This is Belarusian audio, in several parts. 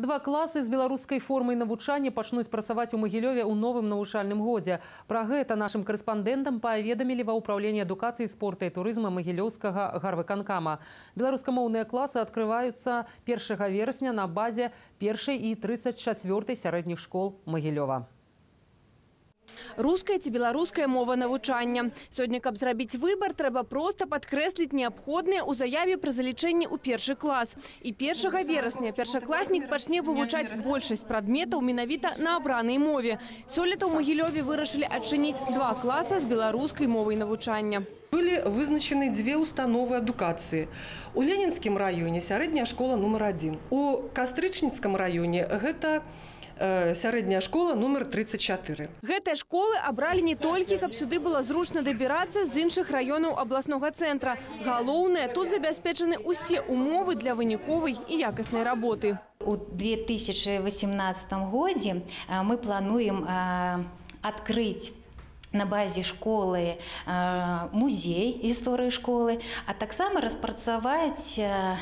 Два класы з беларускай формай навучання пачнуць працаваць у Магілёве ў новым навучальным годзе. Пра гэта нашым корэспандэнтам паведамілі ва ўпраўленні адукацыі, спорта і турызма Магілёўскага гарвыканкама. Беларускамоўныя класы адкрываюцца 1 верасня на базе 1 і 34 сярэдніх школ Магілёва. Руская ці беларуская мова навучання. Сёння, каб зрабіць выбар, трэба проста падкрэсліць неабходнае ў заяве пра залічэнне ў першы клас. І 1 верасня першакласнік пачне вывучаць большасць прадметаў менавіта на абранай мове. Сёлета ў Магілёве вырашылі адчыніць 2 класа з беларускай мовай навучання. Были вызначены две установы адукацыі. У Ленінскім раёне сярэдняя школа номер 1. У Кастрычніцкім раёне гэта сярэдняя школа номер 34. Гэтыя школы абралі не толькі, каб сюды было зручна дабірацца з іншых раёнаў абласнога цэнтра. Галоўнае, тут забяспечаны ўсе умовы для выніковай і якаснай работы. У 2018 годзе мы плануем адкрыць на базе школы музей гісторыі школы, а таксама распрацаваць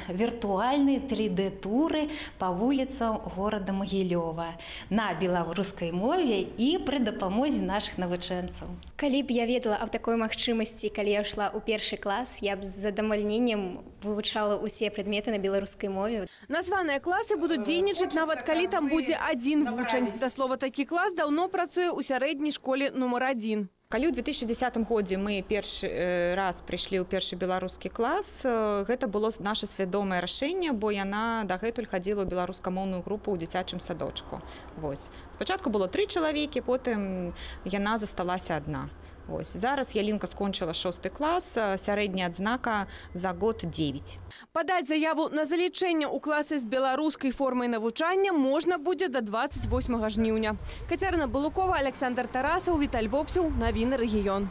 віртуальныя 3D-туры па вуліцам горада Магілёва на беларускай мове і пры дапамозе нашых навучэнцаў. Калі б я ведала аб такой магчымасці, калі я ішла ў першы клас, я б з задавальненнем вывучала ўсе прадметы на беларускай мове. Названыя класы будуць дзейнічаць нават калі там будзе адзін вучань. Да слова, такі клас даўно працуе ў сярэдняй школе номер 1. Калі ў 2010 годзе мы першы раз прыйшлі ў першы беларускі клас, гэта было наше свядомае рашэнне, бо яна дагэтуль хадзіла ў беларускамоўную групу ў дзіцячым садочку. Вось. Спачатку было 3 чалавекі, потым яна засталася адна. Вось. Зараз Ялінка скончыла 6 клас, сярэдняя адзнака за год 9. Падаць заяву на залічэнне ў класы з беларускай формай навучання можна будзе да 28 жніўня. Кацярына Балукова, Александр Тарасаў, Віталь Вопсеў, Навіны рэгіён.